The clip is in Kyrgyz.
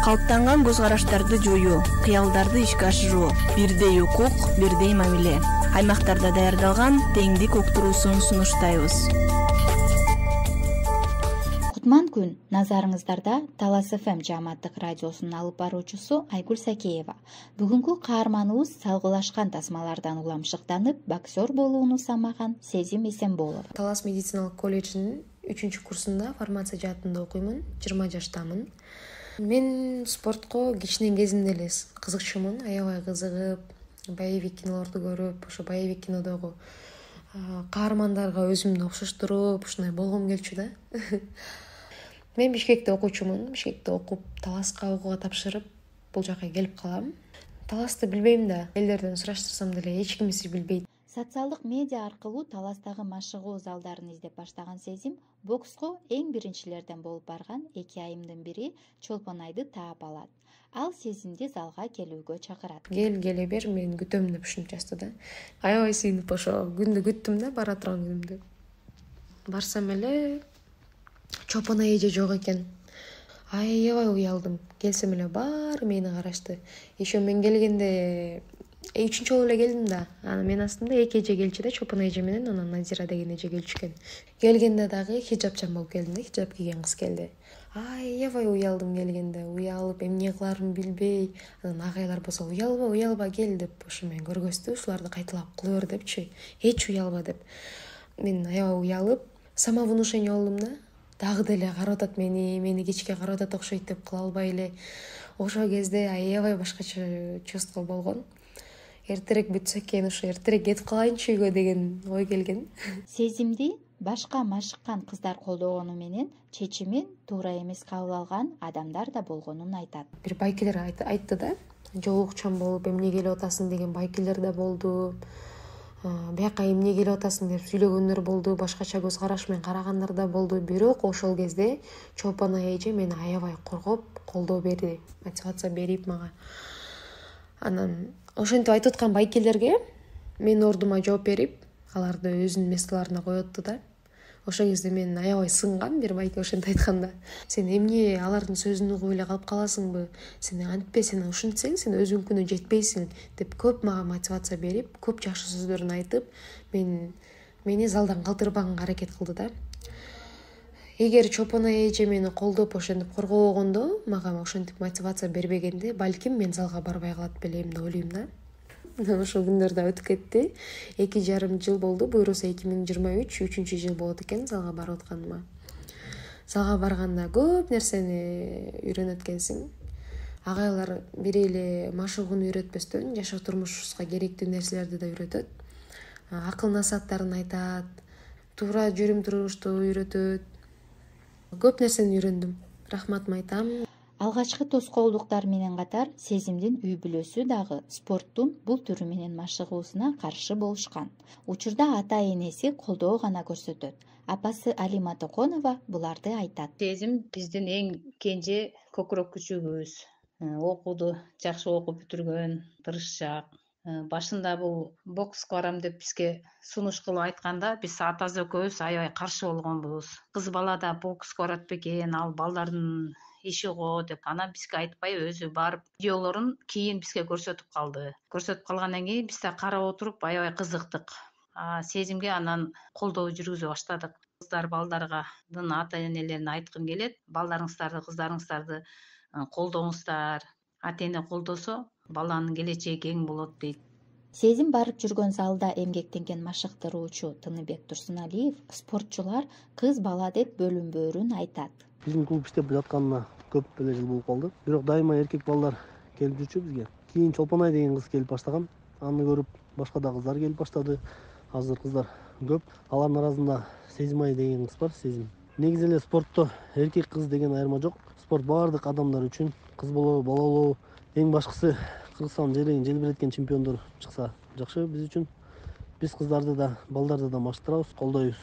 калыптанган көз караштарды жоюу, кыялдарды ишке ашыруу, бирдей укук, бирдей мамиле. Аймактарда даярдалган теңдик уктуруусун сунуштайбыз. Кутман күн. Назарыңыздарда Талас ФМ жааматтык радиосунун алып баруучусу Айгүл Сакеева. Бүгүнкү каарманыбыз салгылашкан тасмалардан уламшыктанып, боксер болууну самаган Сезим Эсенболов. Талас медициналык колледжинин 3-курсунда фармация жаатында окуймун, 20 жаштамын. Мен спортко кичинен кезимде эле кызыкчумун, аябай кызыгып, боевик кинолорду көрүп, ошо боевик кинодогу каармандарга өзүмдү окшоштуруп, ушундай болгум келчү да. Мен Бишкекте окуучумун. Бишкекте окуп, Таласка окууга тапшырып, бул жака келип калам. Таласты билбейм да, элдерден сураштырсам деле эч кимиси билбейт. Социалдык медиа аркылуу Таластагы машыгуу залдарын издеп баштаган Сезим бокско эң биринчилерден болуп барган 2 айымдын бири Чолпонайды таап алат. Ал Сезимди залга келүүгө чакырат. Келе бер, мен күтөм деп ушинтип жазды да. Аябай сыйынып ошо күндү күттүм да, бара турган күнүмдү. Барсам эле Чолпон эже жок экен. Аябай уялдым. Келсем эле баары мени карашты. Еще мен келгенде 3-чү жолу эле келдим да. Анан мен астымда 2 эже келчү да, Чолпон эже менен анан Назира деген эже келчү экен. Келгенде дагы хиджабчан болуп келдим да, хиджаб кийген кыз келди. Аябай уялдым келгенде, уялып, эмне кыларымды билбей. Анан агайлар болсо уялба кел деп ошо мени көргөздү, ушуларды кайталап кыла бер депчи. Эч уялба деп. Мен аябай уялып, самовнушение болдум да. Дагы деле карап атат мени кечке карап атат окшойт деп кыла албай эле. Ошол кезде аябай башкача чувство болгон. Эртерээк бүтсө экен, ошо эртерээк кетип калайынчы үйгө деген ой келген. Сезимди башка машыккан кыздар колдогону менен чечимин туура эмес кабыл алган адамдар да болгонун айтат. Бир байкелер айтты да, жолукчан болуп эмне келип атасың деген байкелер да болду. Бияка эмне келип атасың деп сүйлөгөндөр болду, башкача көз караш менен карагандар да болду. Бирок ошол кезде Чолпон эже мени аябай коргоп, колдоо берди, мотивация берип мага. Анан ошентип айтып аткан байкелерге менин ордума жооп берип, аларды өзүнүн местолоруна коётту да. Ошол кезде мен аябай сынгам, бир байке ошентип айтканда. Сен эмне алардын сөзүн угуп эле калып каласыңбы? Сен антпе, сен ушинтсең, сен өзүңкүнө жетпейсиң деп көп мага мотивация берип, көп жакшы сөздөрүн айтып, мени залдан калтырбаганга аракет кылды да. Эгер Чолпон эже мени колдоп ошентип коргобогондо, мага ошентип мотивация бербегенде, балким мен залга барбай калат белем деп ойлойм да. Ошол күндөр да өтүп кетти. 2,5 жыл болду. Буюрса 2023 3-жыл болот экен залга барып атканыма. Залга барганда көп нерсени үйрөнөт экенсиң. Агайлар бир эле машыгууну үйрөтпөстөн, жашоо турмушубузга керектүү нерселерди да үйрөтөт. Акыл насааттарын айтат, туура жүрүм-турмушту үйрөтөт. Көп нерсени үйрөндүм. Рахматымды айтам. Алгачкы тоскоолдуктар менен катар Сезимдин үй бүлөсү дагы спорттун бул түрү менен машыгуусуна каршы болушкан. Учурда ата-энеси колдоо гана көрсөтөт. Апасы Алима Токонова буларды айтат. Сезим биздин эң кенже көкүрөк күчүбүз. Окууду жакшы окуп бүтүргөн, тырышчаак. Башында бул бокска барам деп бизге сунуш кылып айтканда, биз атасы экөөбүз аябай каршы болгонбуз. Кыз бала да бокска барат бекен, ал балдардын иши го деп. Анан бизге айтпай өзү барып видеолорун кийин бизге көрсөтүп калды. Көрсөтүп калгандан кийин биз да карап отуруп аябай кызыктык. Сезимге анан колдоо жүргүзө баштадык. Кыздар балдаргадын ата-энелерине айткым келет, балдарыңыздарды, кыздарыңыздарды колдоңуздар. Ата-эне колдосо баланын келечеги кең болот дейт. Сезим барып жүргөн залда эмгектенген машыктыруучу Тыныбек Турсуналиев спортчулар кыз бала деп бөлүнбөөрүн айтат. Биздин клуб иштеп жатканына көп эле жыл болуп калды. Бирок дайыма эркек балдар келип жүрчү бизге. Кийин Чолпонай деген кыз келип баштаган. Аны көрүп башка да кыздар келип баштады. Азыр кыздар көп. Алардын арасында Сезимай деген кыз бар, Сезим. Негизи эле спортто эркек кыз деген айырма жок. Спорт баардык адамдар үчүн, кыз болобу, бала болобу, эң башкысы Кыргызстан жерин желбиреткен чемпиондор чыкса жакшы биз үчүн. Биз кыздарды да, балдарды да маштырабыз, колдойбуз.